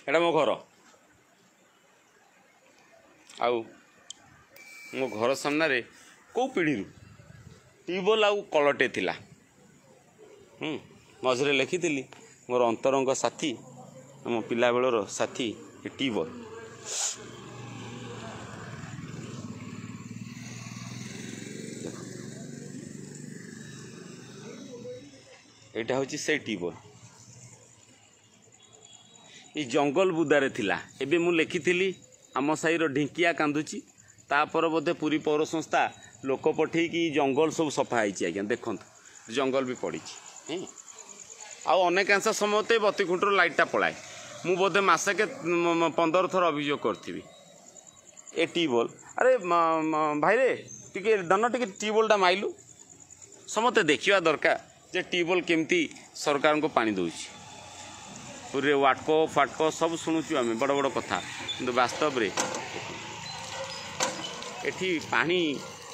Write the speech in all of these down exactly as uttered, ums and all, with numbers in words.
ଏଇଟା ମୋ ଘର ଆଉ ମୋ ଘର ସାମ୍ନାରେ କେଉଁ ପିଢ଼ିରୁ ଟ୍ୟୁବୱେଲ୍ ଆଉ କଳଟେ ଥିଲା ହୁଁ ମଝିରେ ଲେଖିଥିଲି ମୋର ଅନ୍ତରଙ୍ଗ ସାଥୀ ଆମ ପିଲାବେଳର ସାଥୀ ଏ ଟ୍ୟୁବୱେଲ୍ ଏଇଟା ହେଉଛି ସେଇ ଟ୍ୟୁବୱେଲ୍ ଏଇ ଜଙ୍ଗଲ ବୁଦାରେ ଥିଲା ଏବେ ମୁଁ ଲେଖିଥିଲି ଆମ ସାହିର ଢିଙ୍କିଆ କାନ୍ଦୁଛି ତାପରେ ବୋଧେ ପୁରୀ ପୌର ସଂସ୍ଥା ଲୋକ ପଠେଇକି ଜଙ୍ଗଲ ସବୁ ସଫା ହେଇଛି ଆଜ୍ଞା ଦେଖନ୍ତୁ ଜଙ୍ଗଲ ବି ପଡ଼ିଛି ହଁ ଆଉ ଅନେକାଂଶ ସମୟ ତ ବତି ଖୁଣ୍ଟରୁ ଲାଇଟ୍ଟା ପଳାଏ ମୁଁ ବୋଧେ ମାସକେ ପନ୍ଦର ଥର ଅଭିଯୋଗ କରିଥିବି ଏ ଟ୍ୟୁବୱେଲ୍ ଆରେ ଭାଇରେ ଟିକେ ଧନ ଟିକେ ଟ୍ୟୁବୱେଲ୍ଟା ମାଇଲୁ ସମସ୍ତେ ଦେଖିବା ଦରକାର ଯେ ଟ୍ୟୁବୱେଲ୍ କେମିତି ସରକାରଙ୍କୁ ପାଣି ଦେଉଛି ପୁରୀରେ ୱାଟକୋ ଫାଟକୋ ସବୁ ଶୁଣୁଛୁ ଆମେ ବଡ଼ ବଡ଼ କଥା କିନ୍ତୁ ବାସ୍ତବରେ ଏଠି ପାଣି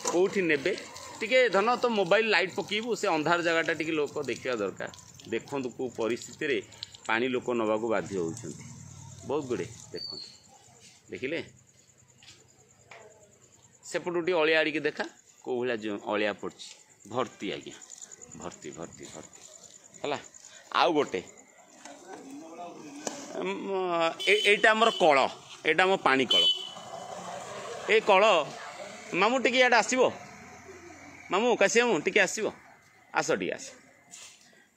କେଉଁଠି ନେବେ ଟିକେ ଧନ ତ ମୋବାଇଲ ଲାଇଟ୍ ପକାଇବୁ ସେ ଅନ୍ଧାର ଜାଗାଟା ଟିକେ ଲୋକ ଦେଖିବା ଦରକାର ଦେଖନ୍ତୁ କେଉଁ ପରିସ୍ଥିତିରେ ପାଣି ଲୋକ ନେବାକୁ ବାଧ୍ୟ ହେଉଛନ୍ତି ବହୁତ ଗୁଡ଼ିଏ ଦେଖନ୍ତୁ ଦେଖିଲେ ସେପଟୁ ଟିକେ ଅଳିଆ ଆଡ଼ିକି ଦେଖା କେଉଁ ଭଳିଆ ଅଳିଆ ପଡ଼ିଛି ଭର୍ତ୍ତି ଆଜ୍ଞା ଭର୍ତ୍ତି ଭର୍ତ୍ତି ଭର୍ତ୍ତି ହେଲା ଆଉ ଗୋଟେ ଏଇଟା ଆମର କଳ ଏଇଟା ଆମ ପାଣି କଳ ଏ କଳ ମାମୁଁ ଟିକେ ଇଆଡ଼େ ଆସିବ ମାମୁଁ କାଶୀ ମାମୁଁ ଟିକେ ଆସିବ ଆସ ଟିକେ ଆସ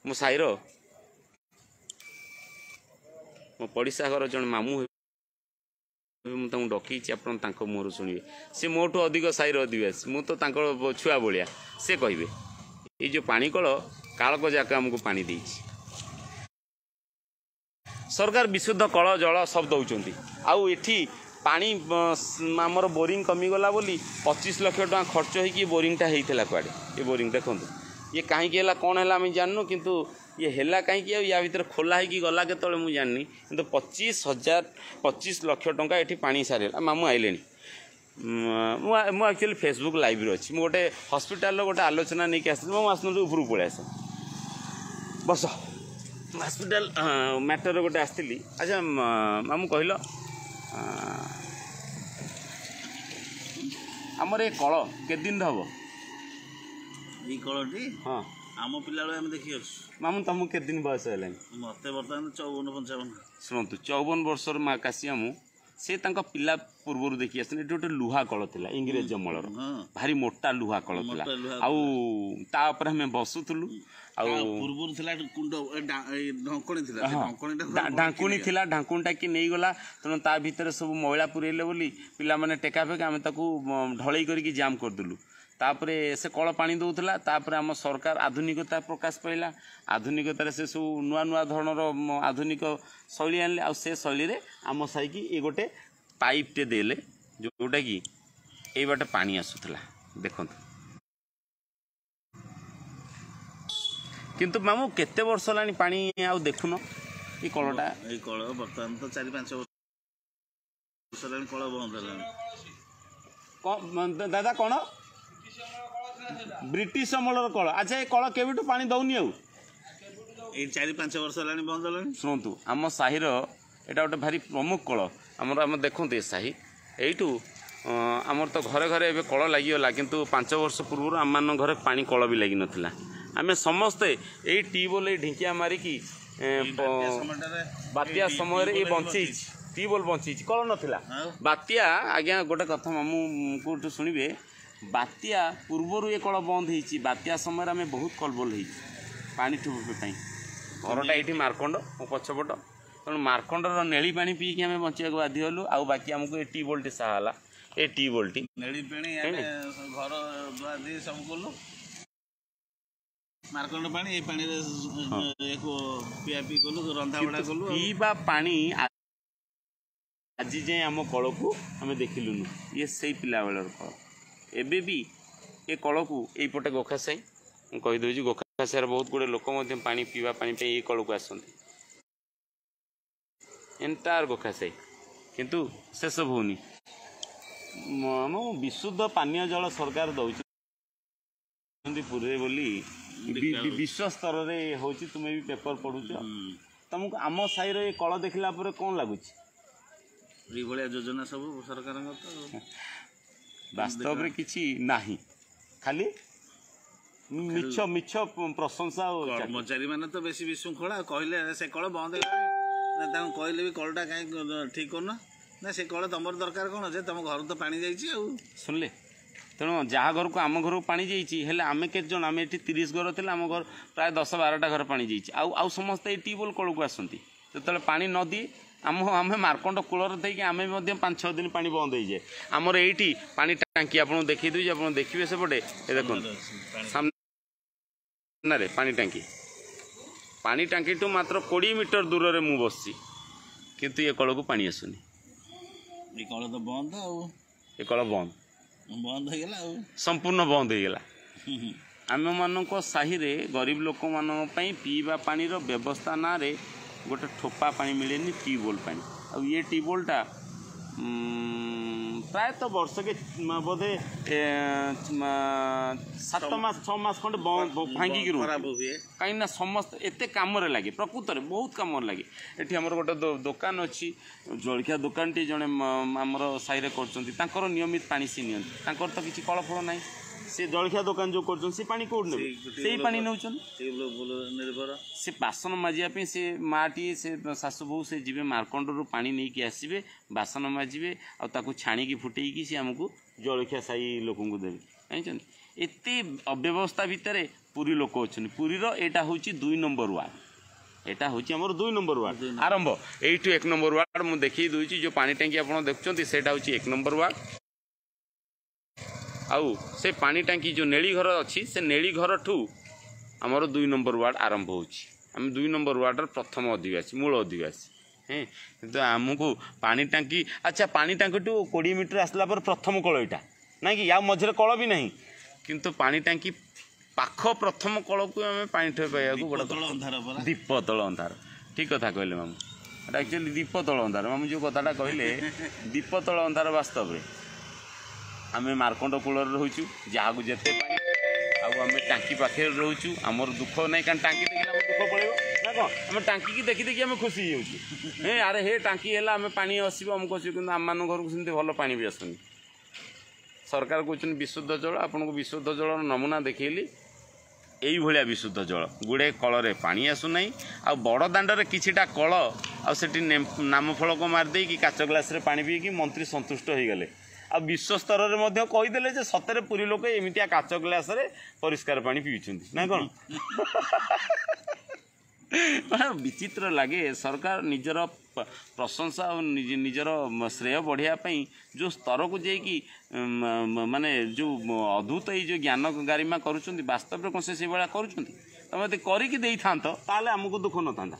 ମୋ ସାହିର ମୋ ପଡ଼ିଶା ଘର ଜଣେ ମାମୁଁ ମୁଁ ତାଙ୍କୁ ଡକେଇଛି ଆପଣ ତାଙ୍କ ମୁହଁରୁ ଶୁଣିବେ ସେ ମୋଠୁ ଅଧିକ ସାହିର ଅଧିବାସୀ ମୁଁ ତ ତାଙ୍କ ଛୁଆ ଭଳିଆ ସେ କହିବେ ଏଇ ଯେଉଁ ପାଣି କଳ କାଳକ ଯାକ ଆମକୁ ପାଣି ଦେଇଛି ସରକାର ବିଶୁଦ୍ଧ କଳ ଜଳ ସବୁ ଦେଉଛନ୍ତି ଆଉ ଏଠି ପାଣି ଆମର ବୋରିଂ କମିଗଲା ବୋଲି ପଚିଶ ଲକ୍ଷ ଟଙ୍କା ଖର୍ଚ୍ଚ ହେଇକି ବୋରିଂଟା ହେଇଥିଲା କୁଆଡ଼େ ଏ ବୋରିଂ ଦେଖନ୍ତୁ ଇଏ କାହିଁକି ହେଲା କ'ଣ ହେଲା ଆମେ ଜାଣିନୁ କିନ୍ତୁ ଇଏ ହେଲା କାହିଁକି ଆଉ ୟା ଭିତରେ ଖୋଲା ହେଇକି ଗଲା କେତେବେଳେ ମୁଁ ଜାଣିନି କିନ୍ତୁ ପଚିଶ ହଜାର ପଚିଶ ଲକ୍ଷ ଟଙ୍କା ଏଠି ପାଣି ସାରିଲା ମାମୁଁ ଆଇଲେଣି ମୁଁ ମୁଁ ଆକ୍ଚୁଆଲି ଫେସବୁକ୍ ଲାଇଭ୍ରେ ଅଛି ମୁଁ ଗୋଟେ ହସ୍ପିଟାଲର ଗୋଟେ ଆଲୋଚନା ନେଇକି ଆସିଥିଲି ମୁଁ ଆସୁନଥିଲି ଉପରକୁ ପଳେଇ ଆସ ବସ ହସ୍ପିଟାଲ ମ୍ୟାଟର ଗୋଟେ ଆସିଥିଲି ଆଚ୍ଛା ମାମୁଁ କହିଲ ଆମର ଏ କଳ କେତେ ଦିନ ହେବ ଏଇ କଳଟି ହଁ ଆମ ପିଲାବେଳେ ଆମେ ଦେଖି ଆସୁଛୁ ମାମୁଁ ତମକୁ କେତେ ଦିନ ବୟସ ହେଲାଣି ମତେ ବର୍ତ୍ତମାନ ଚଉବନ ପଞ୍ଚାବନ ଶୁଣନ୍ତୁ ଚଉବନ ବର୍ଷର ମା କାଶୀ ମାମୁଁ ସେ ତାଙ୍କ ପିଲା ପୂର୍ବରୁ ଦେଖି ଆସିଥିଲେ ଏଠି ଗୋଟେ ଲୁହା କଳ ଥିଲା ଇଂରେଜ ଅମଳର ଭାରି ମୋଟା ଲୁହା କଳ ଥିଲା ଆଉ ତା ଉପରେ ଆମେ ବସୁଥିଲୁ ଆଉ ପୂର୍ବରୁ ଥିଲା କୁଣ୍ଡ ଢାଙ୍କୁଣୀ ଥିଲା ଢାଙ୍କୁଣୀ ଥିଲା ଢାଙ୍କୁଣୀଟା କି ନେଇଗଲା ତେଣୁ ତା ଭିତରେ ସବୁ ମଇଳା ପୁରେଇଲେ ବୋଲି ପିଲାମାନେ ଟେକା ଫେକା ଆମେ ତାକୁ ଢଳେଇ କରିକି ଜାମ୍ କରିଦେଲୁ ତାପରେ ସେ କଳ ପାଣି ଦେଉଥିଲା ତାପରେ ଆମ ସରକାର ଆଧୁନିକତା ପ୍ରକାଶ ପାଇଲା ଆଧୁନିକତାରେ ସେ ସବୁ ନୂଆ ନୂଆ ଧରଣର ଆଧୁନିକ ଶୈଳୀ ଆଣିଲେ ଆଉ ସେ ଶୈଳୀରେ ଆମ ସାହିକି ଏ ଗୋଟେ ପାଇପ୍ଟେ ଦେଲେ ଯେଉଁଟାକି ଏଇ ବାଟେ ପାଣି ଆସୁଥିଲା ଦେଖନ୍ତୁ କିନ୍ତୁ ମାମୁଁ କେତେ ବର୍ଷ ହେଲାଣି ପାଣି ଆଉ ଦେଖୁନ ଏ କଳଟା ଏଇ କଳ ବର୍ତ୍ତମାନ ତ ଚାରି ପାଞ୍ଚ ବର୍ଷ ହେଲାଣି କଳ ବନ୍ଦ ହେଲାଣି ଦାଦା କ'ଣ ବ୍ରିଟିଶ ଅମଳର କଳ ଆଚ୍ଛା ଏ କଳ କେବେଠୁ ପାଣି ଦଉନି ଆଉ ଏଇ ଚାରି ପାଞ୍ଚ ବର୍ଷ ହେଲାଣି ବନ୍ଦ ହେଲାଣି ଶୁଣନ୍ତୁ ଆମ ସାହିର ଏଇଟା ଗୋଟେ ଭାରି ପ୍ରମୁଖ କଳ ଆମର ଆମ ଦେଖନ୍ତୁ ଏ ସାହି ଏଇଠୁ ଆମର ତ ଘରେ ଘରେ ଏବେ କଳ ଲାଗିଗଲା କିନ୍ତୁ ପାଞ୍ଚ ବର୍ଷ ପୂର୍ବରୁ ଆମମାନଙ୍କ ଘରେ ପାଣି କଳ ବି ଲାଗିନଥିଲା ଆମେ ସମସ୍ତେ ଏଇ ଟ୍ୟୁବୱେଲ୍ ଏଇ ଢିଙ୍କିଆ ମାରିକି ବାତ୍ୟା ସମୟରେ ଏଇ ବଞ୍ଚେଇଛି ଟ୍ୟୁବୱେଲ୍ ବଞ୍ଚେଇଛି କଳ ନଥିଲା ବାତ୍ୟା ଆଜ୍ଞା ଗୋଟେ କଥା ମାମୁଁଙ୍କଠୁ ଶୁଣିବେ ବାତ୍ୟା ପୂର୍ବରୁ ଏ କଳ ବନ୍ଦ ହେଇଛି ବାତ୍ୟା ସମୟରେ ଆମେ ବହୁତ କଲବଲ ହେଇଛୁ ପାଣି ଠୁପେ ପାଇଁ ଘରଟା ଏଇଠି ମାର୍କଣ୍ଡ ମୋ ପଛପଟ ତେଣୁ ମାର୍କଣ୍ଡର ନେଳି ପାଣି ପିଇକି ଆମେ ବଞ୍ଚିବାକୁ ବାଧ୍ୟ ହେଲୁ ଆଉ ବାକି ଆମକୁ ଏ ଟ୍ୟୁବୱେଲ୍ଟି ସାହା ହେଲା ଏ ଟ୍ୟୁବୱେଲ୍ଟି ନେଳି ପାଣି ଆମେ ଘର ଧୁଆ ଧୁଇ ସବୁ କଲୁ ମାର୍କଣ୍ଡ ପାଣି ଏ ପାଣିରେ ପିଆ ପିଇ କଲୁ ରନ୍ଧା ବଢ଼ା କଲୁ ପିଇବା ପାଣି ଆଜି ଯାଏଁ ଆମ କଳକୁ ଆମେ ଦେଖିଲୁନୁ ଇଏ ସେଇ ପିଲାବେଳର କଳ ଏବେ ବି ଏ କଳକୁ ଏଇପଟେ ଗୋଖା ସାହି ମୁଁ କହିଦେଉଛି ଗୋଖା ସାହିର ବହୁତ ଗୁଡ଼ିଏ ଲୋକ ମଧ୍ୟ ପାଣି ପିଇବା ପାଣି ପାଇଁ ଏଇ କଳକୁ ଆସନ୍ତି ଏଣ୍ଟାୟାର ଗୋଖା ସାହି କିନ୍ତୁ ସେସବୁ ହେଉନି ମୁଁ ବିଶୁଦ୍ଧ ପାନୀୟ ଜଳ ସରକାର ଦେଉଛନ୍ତି ପୁରୀରେ ବୋଲି ବିଶ୍ୱ ସ୍ତରରେ ହେଉଛି ତୁମେ ବି ପେପର ପଢ଼ୁଛ ତମକୁ ଆମ ସାହିର ଏ କଳ ଦେଖିଲା ପରେ କ'ଣ ଲାଗୁଛି? ଏଇଭଳିଆ ଯୋଜନା ସବୁ ସରକାରଙ୍କ ତ ବାସ୍ତବରେ କିଛି ନାହିଁ, ଖାଲି ମିଛ ମିଛ ପ୍ରଶଂସା। ଆଉ କର୍ମଚାରୀ ମାନେ ତ ବେଶୀ ବିଶୃଙ୍ଖଳା। କହିଲେ ସେ କଳ ବନ୍ଦ ହେଇଗଲାଣି ନା, ତାଙ୍କୁ କହିଲେ ବି କଳଟା କାହିଁ ଠିକ୍ କରୁନ ନା, ସେ କଳ ତମର ଦରକାର କ'ଣ, ଯେ ତମ ଘରୁ ତ ପାଣି ଯାଇଛି। ଆଉ ଶୁଣିଲେ, ତେଣୁ ଯାହା ଘରକୁ ଆମ ଘରକୁ ପାଣି ଯାଇଛି, ହେଲେ ଆମେ କେତେ ଜଣ, ଆମେ ଏଠି ତିରିଶ ଘର ଥିଲେ, ଆମ ଘର ପ୍ରାୟ ଦଶ ବାରଟା ଘର ପାଣି ଯାଇଛି। ଆଉ ଆଉ ସମସ୍ତେ ଏଇ ଟ୍ୟୁବୱେଲ୍ କଳକୁ ଆସନ୍ତି। ଯେତେବେଳେ ପାଣି ନ ଦିଏ ଆମ ଆମେ ମାର୍କଣ୍ଡ କୂଳରେ ଦେଇକି ଆମେ ମଧ୍ୟ ପାଞ୍ଚ ଛଅ ଦିନ ପାଣି ବନ୍ଦ ହେଇଯାଏ। ଆମର ଏଇଠି ପାଣି ଟାଙ୍କି ଆପଣଙ୍କୁ ଦେଖେଇ ଦେଉଛି, ଆପଣ ଦେଖିବେ ସେପଟେ, ଏ ଦେଖନ୍ତୁ ସାମ୍ନାରେ ପାଣି ଟାଙ୍କି। ପାଣି ଟାଙ୍କିଠୁ ମାତ୍ର କୋଡ଼ିଏ ମିଟର ଦୂରରେ ମୁଁ ବସିଛି, କିନ୍ତୁ ଏ କଳକୁ ପାଣି ଆସୁନି। ଏ କଳ ତ ବନ୍ଦ, ଆଉ ଏ କଳ ବନ୍ଦ ବନ୍ଦ ହେଇଗଲା, ଆଉ ସମ୍ପୂର୍ଣ୍ଣ ବନ୍ଦ ହେଇଗଲା। ଆମମାନଙ୍କ ସାହିରେ ଗରିବ ଲୋକମାନଙ୍କ ପାଇଁ ପିଇବା ପାଣିର ବ୍ୟବସ୍ଥା ନାଁରେ ଗୋଟେ ଠୋପା ପାଣି ମିଳେନି, ଟ୍ୟୁବୱେଲ୍ ପାଣି। ଆଉ ଇଏ ଟ୍ୟୁବୱେଲ୍ଟା ପ୍ରାୟତଃ ବର୍ଷକେ ବୋଧେ ସାତ ମାସ ଛଅ ମାସ ଖଣ୍ଡେ ଭାଙ୍ଗିକି ରୁହେ, କାହିଁକିନା ସମସ୍ତେ ଏତେ କାମରେ ଲାଗେ, ପ୍ରକୃତରେ ବହୁତ କାମରେ ଲାଗେ। ଏଠି ଆମର ଗୋଟେ ଦୋକାନ ଅଛି, ଜଳଖିଆ ଦୋକାନଟି ଜଣେ ଆମର ସାହିରେ କରୁଛନ୍ତି, ତାଙ୍କର ନିୟମିତ ପାଣି ସେ ନିଅନ୍ତି। ତାଙ୍କର ତ କିଛି କଳ ଫଳ ନାହିଁ, ସେ ଜଳଖିଆ ଦୋକାନ ଯେଉଁ କରୁଛନ୍ତି ସେ ପାଣି କେଉଁଠି ନେବେ? ସେଇ ପାଣି ନେଉଛନ୍ତି। ସେ ବାସନ ମାଜିବା ପାଇଁ ସେ ମାଆଟିଏ, ସେ ଶାଶୁ ବୋହୂ, ସେ ଯିବେ ମାର୍କଣ୍ଡରୁ ପାଣି ନେଇକି ଆସିବେ, ବାସନ ମାଜିବେ, ଆଉ ତାକୁ ଛାଣିକି ଫୁଟେଇକି ସେ ଆମକୁ ଜଳଖିଆ ସାହି ଲୋକଙ୍କୁ ଦେବେ। ଜାଣିଛନ୍ତି, ଏତେ ଅବ୍ୟବସ୍ଥା ଭିତରେ ପୁରୀ ଲୋକ ଅଛନ୍ତି। ପୁରୀର ଏଇଟା ହେଉଛି ଦୁଇ ନମ୍ବର ୱାର୍ଡ଼, ଏଇଟା ହେଉଛି ଆମର ଦୁଇ ନମ୍ବର ୱାର୍ଡ଼ ଆରମ୍ଭ। ଏଇଠୁ ଏକ ନମ୍ବର ୱାର୍ଡ଼ ମୁଁ ଦେଖେଇ ଦେଉଛି। ଯେଉଁ ପାଣି ଟାଙ୍କି ଆପଣ ଦେଖୁଛନ୍ତି ସେଇଟା ହେଉଛି ଏକ ନମ୍ବର ୱାର୍ଡ଼। ଆଉ ସେ ପାଣି ଟାଙ୍କି ଯେଉଁ ନେଳି ଘର ଅଛି, ସେ ନେଳି ଘରଠୁ ଆମର ଦୁଇ ନମ୍ବର ୱାର୍ଡ଼ ଆରମ୍ଭ ହେଉଛି। ଆମେ ଦୁଇ ନମ୍ବର ୱାର୍ଡ଼ର ପ୍ରଥମ ଅଧିବାସୀ, ମୂଳ ଅଧିବାସୀ। ହେଁ, କିନ୍ତୁ ଆମକୁ ପାଣି ଟାଙ୍କି, ଆଚ୍ଛା ପାଣି ଟାଙ୍କିଠୁ କୋଡ଼ିଏ ମିଟର ଆସିଲା ପରେ ପ୍ରଥମ କଳ ଏଇଟା, ନାଇଁ କି ଆଉ ମଝିରେ କଳ ବି ନାହିଁ, କିନ୍ତୁ ପାଣି ଟାଙ୍କି ପାଖ ପ୍ରଥମ କଳକୁ ଆମେ ପାଣି ଠୋପେ ପାଇବାକୁ ବଡ଼ ଦୀପ ତଳ ଅନ୍ଧାର। ଠିକ୍ କଥା କହିଲେ ମାମୁଁ, ଏଇଟା ଆକ୍ଚୁଆଲି ଦୀପ ତଳ ଅନ୍ଧାର। ମାମୁଁ ଯେଉଁ କଥାଟା କହିଲେ ଦୀପ ତଳ ଅନ୍ଧାର, ବାସ୍ତବରେ ଆମେ ମାର୍କଣ୍ଡ କୂଳରେ ରହୁଛୁ, ଯାହାକୁ ଯେତେ ପାଣି, ଆଉ ଆମେ ଟାଙ୍କି ପାଖରେ ରହୁଛୁ, ଆମର ଦୁଃଖ ନାହିଁ, କାରଣ ଟାଙ୍କି ଦେଖିଲେ ଆମ ଦୁଃଖ ପଳେଇବ ନା କ'ଣ? ଆମେ ଟାଙ୍କିକି ଦେଖି ଦେଖି ଆମେ ଖୁସି ହେଇଯାଉଛୁ। ହେ ଆରେ ହେ ଟାଙ୍କି ହେଲା, ଆମେ ପାଣି ଆସିବ, ଆମକୁ ଆସିବ, କିନ୍ତୁ ଆମମାନଙ୍କ ଘରକୁ ସେମିତି ଭଲ ପାଣି ବି ଆସୁନି। ସରକାର କହୁଛନ୍ତି ବିଶୁଦ୍ଧ ଜଳ, ଆପଣଙ୍କୁ ବିଶୁଦ୍ଧ ଜଳର ନମୁନା ଦେଖେଇଲି, ଏଇଭଳିଆ ବିଶୁଦ୍ଧ ଜଳ। ଗୁଡ଼େ କଳରେ ପାଣି ଆସୁନାହିଁ। ଆଉ ବଡ଼ ଦାଣ୍ଡରେ କିଛିଟା କଳ, ଆଉ ସେଠି ନାମଫଳକ ମାରିଦେଇକି କାଚ ଗ୍ଲାସରେ ପାଣି ପିଇକି ମନ୍ତ୍ରୀ ସନ୍ତୁଷ୍ଟ ହେଇଗଲେ। ଆଉ ବିଶ୍ୱ ସ୍ତରରେ ମଧ୍ୟ କହିଦେଲେ ଯେ ସତରେ ପୁରୀ ଲୋକ ଏମିତିଆ କାଚ ଗ୍ଲାସରେ ପରିଷ୍କାର ପାଣି ପିଉଛନ୍ତି ନା କ'ଣ? ବିଚିତ୍ର ଲାଗେ, ସରକାର ନିଜର ପ୍ରଶଂସା ଆଉ ନିଜର ଶ୍ରେୟ ବଢ଼ିବା ପାଇଁ ଯେଉଁ ସ୍ତରକୁ ଯାଇକି ମାନେ ଯେଉଁ ଅଦ୍ଭୁତ ଏଇ ଯେଉଁ ଜ୍ଞାନ ଗାରିମା କରୁଛନ୍ତି, ବାସ୍ତବରେ କ'ଣ ସେ ସେଇଭଳିଆ କରୁଛନ୍ତି? ତମେ ଯଦି କରିକି ଦେଇଥାନ୍ତ ତାହେଲେ ଆମକୁ ଦୁଃଖ ନଥାନ୍ତା।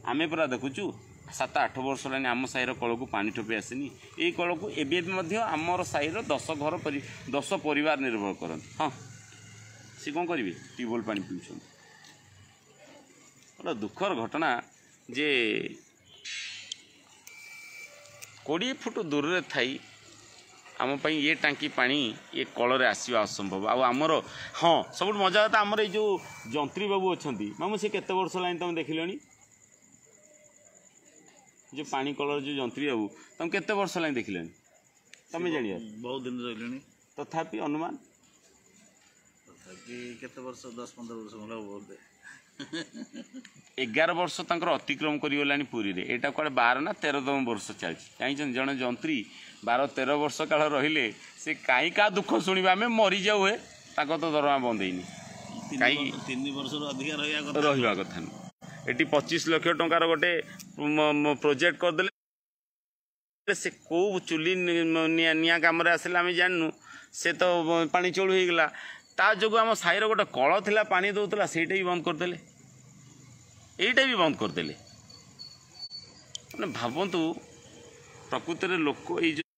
ଆମେ ପରା ଦେଖୁଛୁ ସାତ ଆଠ ବର୍ଷ ହେଲାଣି ଆମ ସାହିର କଳକୁ ପାଣି ଠୋପେ ଆସିନି। ଏଇ କଳକୁ ଏବେ ବି ମଧ୍ୟ ଆମର ସାହିର ଦଶ ଘର ପରି ଦଶ ପରିବାର ନିର୍ଭର କରନ୍ତି। ହଁ, ସେ କ'ଣ କରିବେ? ଟ୍ୟୁବୱେଲ୍ ପାଣି ପିଉଛନ୍ତି। ଗୋଟେ ଦୁଃଖର ଘଟଣା ଯେ କୋଡ଼ିଏ ଫୁଟ ଦୂରରେ ଥାଇ ଆମ ପାଇଁ ଏ ଟାଙ୍କି ପାଣି ଏ କଳରେ ଆସିବା ଅସମ୍ଭବ। ଆଉ ଆମର, ହଁ ସବୁଠୁ ମଜା କଥା, ଆମର ଏଇ ଯେଉଁ ଯନ୍ତ୍ରୀ ବାବୁ ଅଛନ୍ତି ମାମୁଁ, ସେ କେତେ ବର୍ଷ ହେଲାଣି ତମେ ଦେଖିଲଣି? ଯେଉଁ ପାଣି କଳର ଯେଉଁ ଯନ୍ତ୍ରୀ ବାବୁ, ତମେ କେତେ ବର୍ଷ ହେଲାଣି ଦେଖିଲଣି? ତମେ ଜାଣିବ ବହୁତ ଦିନ ରହିଲେଣି। ତଥାପି ଅନୁମାନ ତଥାପି କେତେ ବର୍ଷ, ଦଶ ପନ୍ଦର ବର୍ଷ ଖଣ୍ଡେ ହବ ବୋଧେ। ଏଗାର ବର୍ଷ ତାଙ୍କର ଅତିକ୍ରମ କରିଗଲାଣି ପୁରୀରେ। ଏଇଟା କୁଆଡ଼େ ବାର ନା ତେରତମ ବର୍ଷ ଚାଲିଛି। ଜାଣିଛନ୍ତି, ଜଣେ ଯନ୍ତ୍ରୀ ବାର ତେର ବର୍ଷ କାଳ ରହିଲେ ସେ କାହିଁ କାହା ଦୁଃଖ ଶୁଣିବେ? ଆମେ ମରିଯାଉ ହେ, ତାଙ୍କ ତ ଦରମା ବନ୍ଦ ହେଇନି। କାହିଁକି ତିନି ବର୍ଷରୁ ଅଧିକା ରହିବା କଥା ରହିବା କଥା ନୁହଁ। ଏଠି ପଚିଶ ଲକ୍ଷ ଟଙ୍କାର ଗୋଟେ ପ୍ରୋଜେକ୍ଟ କରିଦେଲେ, ସେ କେଉଁ ଚୁଲି ନିଆଁ ନିଆଁ କାମରେ ଆସିଲା ଆମେ ଜାଣିନୁ। ସେ ତ ପାଣି ଚଳୁ ହେଇଗଲା। ତା ଯୋଗୁଁ ଆମ ସାହିର ଗୋଟେ କଳ ଥିଲା, ପାଣି ଦେଉଥିଲା, ସେଇଟା ବି ବନ୍ଦ କରିଦେଲେ, ଏଇଟା ବି ବନ୍ଦ କରିଦେଲେ। ମାନେ ଭାବନ୍ତୁ ପ୍ରକୃତରେ ଲୋକ, ଏଇ ଯେଉଁ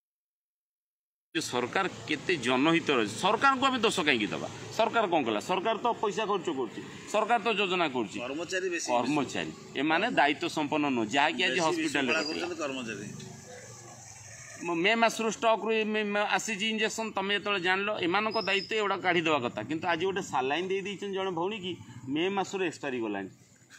ସରକାର କେତେ ଜନହିତର। ସରକାରଙ୍କୁ ଆମେ ଦୋଷ କାହିଁକି ଦେବା? ସରକାର କ'ଣ କଲା? ସରକାର ତ ପଇସା ଖର୍ଚ୍ଚ କରୁଛି, ସରକାର ତ ଯୋଜନା କରୁଛି। କର୍ମଚାରୀ, କର୍ମଚାରୀ ଏମାନେ ଦାୟିତ୍ୱ ସମ୍ପନ୍ନ ନୁହଁ, ଯାହାକି ଆଜି ହସ୍ପିଟାଲରେ କର୍ମଚାରୀ ମେ ମାସରୁ ଷ୍ଟକ୍ରୁ ଆସିଛି ଇଞ୍ଜେକ୍ସନ୍। ତମେ ଯେତେବେଳେ ଜାଣିଲ, ଏମାନଙ୍କ ଦାୟିତ୍ୱ ଏଗୁଡ଼ା କାଢ଼ିଦେବା କଥା। କିନ୍ତୁ ଆଜି ଗୋଟେ ସାଲାଇନ୍ ଦେଇ ଦେଇଛନ୍ତି ଜଣେ ଭଉଣୀ କି, ମେ ମାସରୁ ଏକ୍ସପାୟାରି ଗଲାଣି।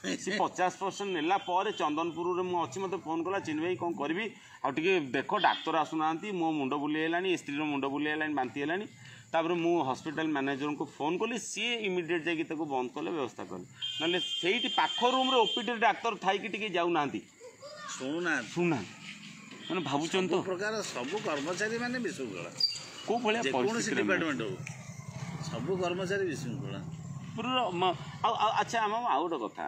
ସେ ପଚାଶ ପରସେଣ୍ଟ ନେଲା ପରେ ଚନ୍ଦନପୁରରେ ମୁଁ ଅଛି, ମୋତେ ଫୋନ୍ କଲା, ଚିନି ଭାଇ କ'ଣ କରିବି ଆଉ ଟିକେ ଦେଖ, ଡାକ୍ତର ଆସୁନାହାନ୍ତି, ମୋ ମୁଣ୍ଡ ବୁଲେଇ ହେଲାଣି, ଏ ସ୍ତ୍ରୀର ମୁଣ୍ଡ ବୁଲେଇ ହେଲାଣି, ବାନ୍ତି ହେଲାଣି। ତାପରେ ମୁଁ ହସ୍ପିଟାଲ ମ୍ୟାନେଜରଙ୍କୁ ଫୋନ୍ କଲି, ସିଏ ଇମିଡ଼ିଏଟ୍ ଯାଇକି ତାକୁ ବନ୍ଦ କଲେ, ବ୍ୟବସ୍ଥା କଲେ। ନହେଲେ ସେଇଠି ପାଖ ରୁମ୍ରେ ଓପିଡିରେ ଡାକ୍ତର ଥାଇକି ଟିକେ ଯାଉନାହାନ୍ତି, ଶୁଣୁନାହାନ୍ତି, ଶୁଣୁନାହାନ୍ତି। ମାନେ ଭାବୁଛନ୍ତି ତ ପ୍ରକାର ସବୁ କର୍ମଚାରୀ ମାନେ ବିଶୃଙ୍ଖଳା, କେଉଁ ଭଳିଆ ଯେକୌଣସି ଡିପାର୍ଟମେଣ୍ଟ ହଉ ସବୁ କର୍ମଚାରୀ ବିଶୃଙ୍ଖଳା ପୁରୀର। ଆଉ ଆଚ୍ଛା, ଆମ ଆଉ ଗୋଟେ କଥା,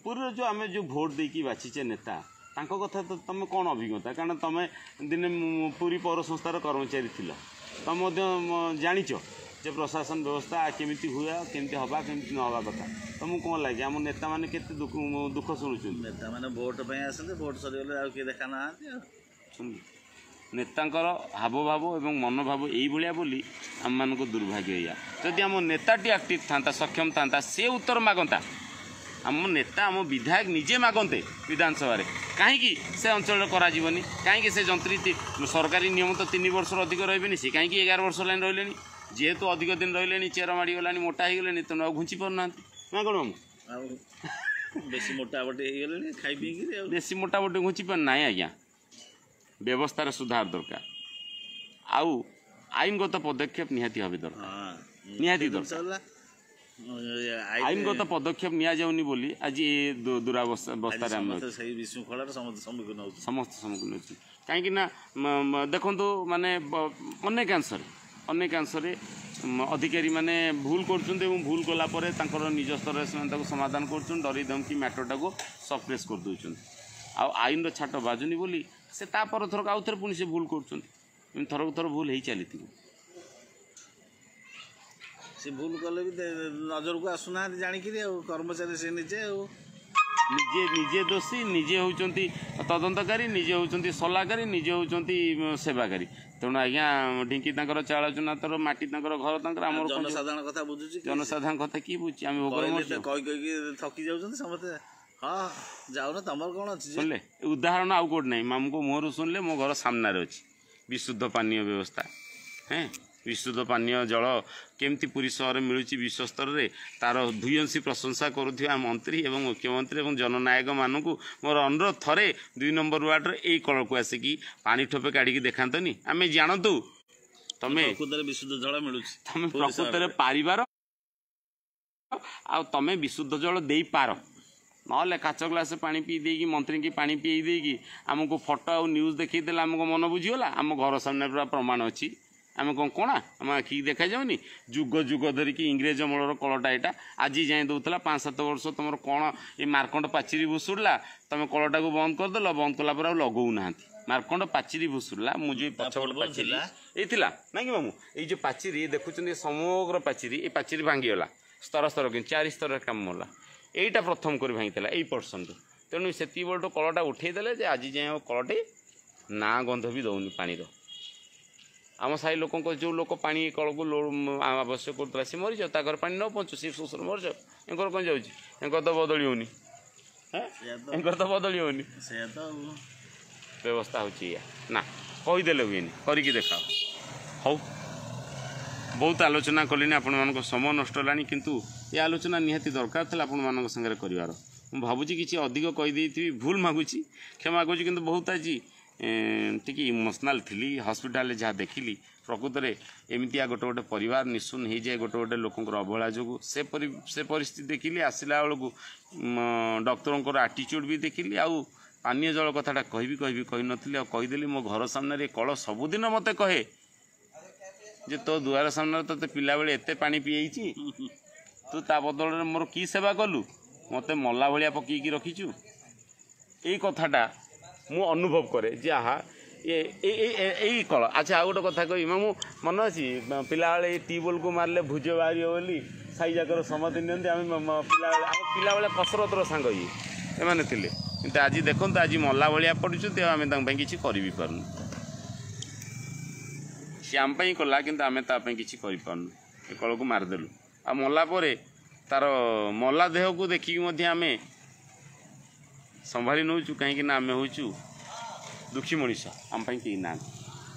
ପୁରୀର ଯେଉଁ ଆମେ ଯେଉଁ ଭୋଟ ଦେଇକି ବାଛିଛେ ନେତା, ତାଙ୍କ କଥା ତ ତୁମେ କ'ଣ ଅଭିଜ୍ଞତା? କାରଣ ତୁମେ ଦିନେ ପୁରୀ ପୌର ସଂସ୍ଥାର କର୍ମଚାରୀ ଥିଲ, ତମେ ମଧ୍ୟ ଜାଣିଛ ଯେ ପ୍ରଶାସନ ବ୍ୟବସ୍ଥା କେମିତି ହୁଏ, କେମିତି ହେବା, କେମିତି ନ ହେବା କଥା। ତମକୁ କ'ଣ ଲାଗେ ଆମ ନେତାମାନେ କେତେ ଦୁଃଖ ଶୁଣୁଛନ୍ତି? ନେତାମାନେ ଭୋଟ ପାଇଁ ଆସନ୍ତି, ଭୋଟ ସରିଗଲେ ଆଉ କିଏ ଦେଖା ନାହାନ୍ତି। ଆଉ ନେତାଙ୍କର ହାବଭାବ ଏବଂ ମନୋଭାବ ଏଇଭଳିଆ ବୋଲି ଆମମାନଙ୍କ ଦୁର୍ଭାଗ୍ୟ ଏଇଆ। ଯଦି ଆମ ନେତାଟି ଆକ୍ଟିଭ୍ ଥାନ୍ତା, ସକ୍ଷମ ଥାନ୍ତା, ସେ ଉତ୍ତର ମାଗନ୍ତା। ଆମ ନେତା, ଆମ ବିଧାୟକ ନିଜେ ମାଗନ୍ତେ ବିଧାନସଭାରେ, କାହିଁକି ସେ ଅଞ୍ଚଳରେ କରାଯିବନି, କାହିଁକି ସେ ଯନ୍ତ୍ରୀ, ସରକାରୀ ନିୟମ ତ ତିନି ବର୍ଷରୁ ଅଧିକ ରହିବେନି, ସେ କାହିଁକି ଏଗାର ବର୍ଷ ହେଲାଣି ରହିଲେଣି? ଯେହେତୁ ଅଧିକ ଦିନ ରହିଲେଣି, ଚେର ମାଡ଼ିଗଲାଣି, ମୋଟା ହେଇଗଲେଣି, ତେଣୁ ଆଉ ଘୁଞ୍ଚି ପାରୁନାହାନ୍ତି ନା କ'ଣ? ମୁଁ ଆଉ ବେଶୀ ମୋଟାମୋଟି ହେଇଗଲେଣି ଖାଇ ପିଇକିରି, ଆଉ ବେଶୀ ମୋଟାମୋଟି ଘୁଞ୍ଚି ପାରୁ ନାହିଁ ଆଜ୍ଞା। ବ୍ୟବସ୍ଥାର ସୁଧାର ଦରକାର, ଆଉ ଆଇନଗତ ପଦକ୍ଷେପ ନିହାତି ଭାବେ ଦରକାର, ନିହାତି ଦରକାର। ଆଇନଗତ ପଦକ୍ଷେପ ନିଆଯାଉନି ବୋଲି ଆଜି ଏ ଦୁରାବସ୍ଥାରେ ଆମେ ସେଇ ବିଶୃଙ୍ଖଳାର ସମସ୍ତେ ସମ୍ମୁଖୀନ ହେଉଛୁ, ସମସ୍ତେ ସମ୍ମୁଖୀନ ହେଉଛୁ। କାହିଁକି ନା ଦେଖନ୍ତୁ, ମାନେ ଅନେକାଂଶରେ ଅନେକାଂଶରେ ଅଧିକାରୀମାନେ ଭୁଲ କରୁଛନ୍ତି, ଏବଂ ଭୁଲ କଲା ପରେ ତାଙ୍କର ନିଜ ସ୍ତରରେ ସେମାନେ ତାକୁ ସମାଧାନ କରୁଛନ୍ତି, ଡରି ଧମକି ମ୍ୟାଟରଟାକୁ ସପ୍ରେସ୍ କରିଦେଉଛନ୍ତି। ଆଉ ଆଇନର ଛାଟ ବାଜୁନି ବୋଲି ସେ ତା ପର ଥରକ ଆଉ ଥରେ ପୁଣି ସେ ଭୁଲ କରୁଛନ୍ତି। ଏମିତି ଥରକୁ ଥର ଭୁଲ ହେଇ ଚାଲିଥିବ। ସେ ଭୁଲ କଲେ ବି ନଜରକୁ ଆସୁନାହାନ୍ତି ଜାଣିକିରି, ଆଉ କର୍ମଚାରୀ ସେ ନିଜେ ଆଉ ନିଜେ ନିଜେ ଦୋଷୀ, ନିଜେ ହେଉଛନ୍ତି ତଦନ୍ତକାରୀ, ନିଜେ ହେଉଛନ୍ତି ସଲାକାରୀ, ନିଜେ ହେଉଛନ୍ତି ସେବାକାରୀ। ତେଣୁ ଆଜ୍ଞା ଢିଙ୍କି ତାଙ୍କର, ଚାଳ ଚୁନା ତାର, ମାଟି ତାଙ୍କର, ଘର ତାଙ୍କର, ଆମର ଜନସାଧାରଣ କଥା ବୁଝୁଛି? ଜନସାଧାରଣ କଥା କିଏ ବୁଝୁଛି? ଆମେ ଭୋକରେ କହି କହିକି ଥକି ଯାଉଛନ୍ତି ସମସ୍ତେ। ହଁ ଯାଉନ, ତମର କ'ଣ ଅଛି? ଶୁଣିଲେ ଉଦାହରଣ ଆଉ କୋଉଠି ନାହିଁ, ମାମୁଁଙ୍କ ମୁହଁରୁ ଶୁଣିଲେ। ମୋ ଘର ସାମ୍ନାରେ ଅଛି ବିଶୁଦ୍ଧ ପାନୀୟ ବ୍ୟବସ୍ଥା। ହେଁ, ବିଶୁଦ୍ଧ ପାନୀୟ ଜଳ କେମିତି ପୁରୀ ସହରରେ ମିଳୁଛି ବିଶ୍ୱସ୍ତରରେ, ତାର ଭୂୟସୀ ପ୍ରଶଂସା କରୁଥିବା ମନ୍ତ୍ରୀ ଏବଂ ମୁଖ୍ୟମନ୍ତ୍ରୀ ଏବଂ ଜନନାୟକମାନଙ୍କୁ ମୋର ଅନୁରୋଧ, ଥରେ ଦୁଇ ନମ୍ବର ୱାର୍ଡ଼ର ଏଇ କଳକୁ ଆସିକି ପାଣି ଠୋପେ କାଢ଼ିକି ଦେଖାନ୍ତନି, ଆମେ ଜାଣନ୍ତୁ ତମେ ପ୍ରକୃତରେ ବିଶୁଦ୍ଧ ଜଳ ମିଳୁଛି, ତମେ ପ୍ରକୃତରେ ପାରିବାର ଆଉ ତମେ ବିଶୁଦ୍ଧ ଜଳ ଦେଇପାର। ନହେଲେ କାଚ ଗ୍ଲାସ ପାଣି ପିଇ ଦେଇକି, ମନ୍ତ୍ରୀଙ୍କି ପାଣି ପିଇ ଦେଇକି ଆମକୁ ଫଟୋ ଆଉ ନ୍ୟୁଜ୍ ଦେଖେଇ ଦେଲେ ଆମକୁ ମନ ବୁଝିଗଲା। ଆମ ଘର ସାମ୍ନାରେ ପୁରା ପ୍ରମାଣ ଅଛି। ଆମେ କ'ଣ କଣା? ଆମ ଆଖିକି ଦେଖାଯାଉନି? ଯୁଗ ଯୁଗ ଧରିକି ଇଂରେଜ ଅମଳର କଳଟା ଏଇଟା ଆଜି ଯାଏଁ ଦେଉଥିଲା। ପାଞ୍ଚ ସାତ ବର୍ଷ ତୁମର କ'ଣ ଏ ମାର୍କଣ୍ଡ ପାଚିରି ଭୁଷୁଡ଼ିଲା, ତୁମେ କଳଟାକୁ ବନ୍ଦ କରିଦେଲ, ବନ୍ଦ କଲା ପରେ ଆଉ ଲଗାଉନାହାନ୍ତି। ମାର୍କଣ୍ଡ ପାଚିରି ଭୁଷୁଡ଼ିଲା, ମୁଁ ଯେଉଁ ପଛପଟ ପାଚିରି ଏଇ ଥିଲା ନାଇଁ କି ମାମୁଁ, ଏଇ ଯେଉଁ ପାଚିରି ଦେଖୁଛନ୍ତି ସମଗ୍ର ପାଚିରି, ଏ ପାଚିରି ଭାଙ୍ଗିଗଲା ସ୍ତର ସ୍ତର, କିନ୍ତୁ ଚାରି ସ୍ତରରେ କାମ ହେଲା। ଏଇଟା ପ୍ରଥମ କରି ଭାଙ୍ଗିଥିଲା ଏଇ ପର୍ସନରୁ। ତେଣୁ ସେତିକି ବେଳଠୁ କଳଟା ଉଠେଇ ଦେଲେ ଯେ ଆଜି ଯାଏଁ ଆଉ କଳଟି ନାଁ ଗନ୍ଧ ବି ଦେଉନି ପାଣିର। ଆମ ସାହି ଲୋକଙ୍କ ଯେଉଁ ଲୋକ ପାଣି କଳକୁ ଆବଶ୍ୟକ କରୁଥିଲା ସେ ମରିଯାଉ, ତା ଘରେ ପାଣି ନ ପହଞ୍ଚୁ, ସେ ଶ୍ୱଶୁର ମରିଯାଉ, ଏଙ୍କର କ'ଣ ଯାଉଛି? ଏଙ୍କର ତ ବଦଳି ହେଉନି, ଏଙ୍କର ତ ବଦଳି ହେଉନି। ସେଇଆ ତ ବ୍ୟବସ୍ଥା ହେଉଛି ଏଇଆ ନା, କହିଦେଲେ ହୁଏନି, କରିକି ଦେଖାଅ। ହଉ, ବହୁତ ଆଲୋଚନା କଲିଣି, ଆପଣମାନଙ୍କ ସମୟ ନଷ୍ଟ ହେଲାଣି, କିନ୍ତୁ ଏ ଆଲୋଚନା ନିହାତି ଦରକାର ଥିଲା ଆପଣମାନଙ୍କ ସାଙ୍ଗରେ କରିବାର। ମୁଁ ଭାବୁଛି କିଛି ଅଧିକ କହିଦେଇଥିବି, ଭୁଲ ମାଗୁଛି, କ୍ଷମା ମାଗୁଛି, କିନ୍ତୁ ବହୁତ ଆଜି ଟିକେ ଇମୋସନାଲ୍ ଥିଲି। ହସ୍ପିଟାଲରେ ଯାହା ଦେଖିଲି, ପ୍ରକୃତରେ ଏମିତିଆ ଗୋଟେ ଗୋଟେ ପରିବାର ନିଶୂନ ହେଇଯାଏ ଗୋଟେ ଗୋଟେ ଲୋକଙ୍କର ଅବହେଳା ଯୋଗୁଁ, ସେ ପରି ସେ ପରିସ୍ଥିତି ଦେଖିଲି। ଆସିଲା ବେଳକୁ ଡକ୍ଟରଙ୍କର ଆଟିଚ୍ୟୁଡ଼୍ ବି ଦେଖିଲି। ଆଉ ପାନୀୟ ଜଳ କଥାଟା କହିବି କହିବି କହିନଥିଲି, ଆଉ କହିଦେଲି। ମୋ ଘର ସାମ୍ନାରେ କଳ ସବୁଦିନ ମୋତେ କହେ ଯେ ତୋ ଦୁଆର ସାମ୍ନାରେ ତୋତେ ପିଲାବେଳେ ଏତେ ପାଣି ପିଏଇଛି, ତୁ ତା ବଦଳରେ ମୋର କି ସେବା କଲୁ, ମୋତେ ମଲା ଭଳିଆ ପକେଇକି ରଖିଛୁ। ଏଇ କଥାଟା ମୁଁ ଅନୁଭବ କରେ ଯେ ଆହା ଏ ଏଇ କଳ। ଆଚ୍ଛା, ଆଉ ଗୋଟେ କଥା କହିବି ମୁଁ, ମନେ ଅଛି ପିଲାବେଳେ ଏଇ ଟ୍ୟୁବୱେଲ୍କୁ ମାରିଲେ ଭୁଜ ବାହାରିବ ବୋଲି ସାହି ଯାକର ସମସ୍ତେ ନିଅନ୍ତି। ଆମେ ପିଲାବେଳେ, ଆମ ପିଲାବେଳେ କସରତର ସାଙ୍ଗ ଇଏ ଏମାନେ ଥିଲେ, କିନ୍ତୁ ଆଜି ଦେଖନ୍ତୁ ଆଜି ମଲା ଭଳିଆ ପଡ଼ୁଛନ୍ତି, ଆଉ ଆମେ ତାଙ୍କ ପାଇଁ କିଛି କରି ବି ପାରୁନୁ। ସିଏ ଆମ ପାଇଁ କଲା, କିନ୍ତୁ ଆମେ ତା ପାଇଁ କିଛି କରିପାରୁନୁ। ଏ କଳକୁ ମାରିଦେଲୁ, ଆଉ ମଲା ପରେ ତାର ମଲା ଦେହକୁ ଦେଖିକି ମଧ୍ୟ ଆମେ ସମ୍ଭାଳି ନେଉଛୁ, କାହିଁକି ନା ଆମେ ହେଉଛୁ ଦୁଃଖୀ ମଣିଷ, ଆମ ପାଇଁ କେହି ନାହାନ୍ତି।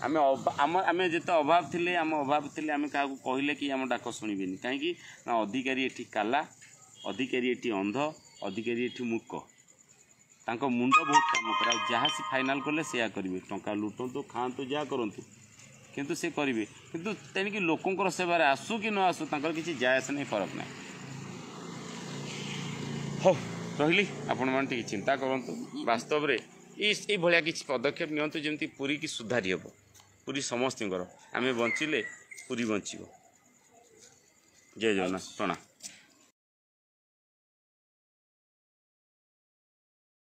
ଆମେ ଆମ ଆମେ ଯେତେ ଅଭାବ ଥିଲେ, ଆମ ଅଭାବ ଥିଲେ ଆମେ କାହାକୁ କହିଲେ କି ଆମ ଡାକ ଶୁଣିବେନି। କାହିଁକି ନା ଅଧିକାରୀ ଏଠି କାଲା, ଅଧିକାରୀ ଏଠି ଅନ୍ଧ, ଅଧିକାରୀ ଏଠି ମୂକ, ତାଙ୍କ ମୁଣ୍ଡ ବହୁତ କାମ କରେ। ଆଉ ଯାହା ସେ ଫାଇନାଲ୍ କଲେ ସେୟା କରିବେ। ଟଙ୍କା ଲୁଟନ୍ତୁ, ଖାଆନ୍ତୁ, ଯାହା କରନ୍ତୁ, କିନ୍ତୁ ସେ କରିବେ। କିନ୍ତୁ ତେଣିକି ଲୋକଙ୍କର ସେବାରେ ଆସୁ କି ନ ଆସୁ, ତାଙ୍କର କିଛି ଯାଏ ଆସେ ନାହିଁ, ଫରକ ନାହିଁ। ହଉ, ରହିଲି। ଆପଣମାନେ ଟିକେ ଚିନ୍ତା କରନ୍ତୁ, ବାସ୍ତବରେ ଏଇ ଏଇଭଳିଆ କିଛି ପଦକ୍ଷେପ ନିଅନ୍ତୁ ଯେମିତି ପୁରୀକି ସୁଧାରି ହେବ। ପୁରୀ ସମସ୍ତଙ୍କର, ଆମେ ବଞ୍ଚିଲେ ପୁରୀ ବଞ୍ଚିବ। ଜୟ ଜଗନ୍ନାଥ, ପ୍ରଣାମ।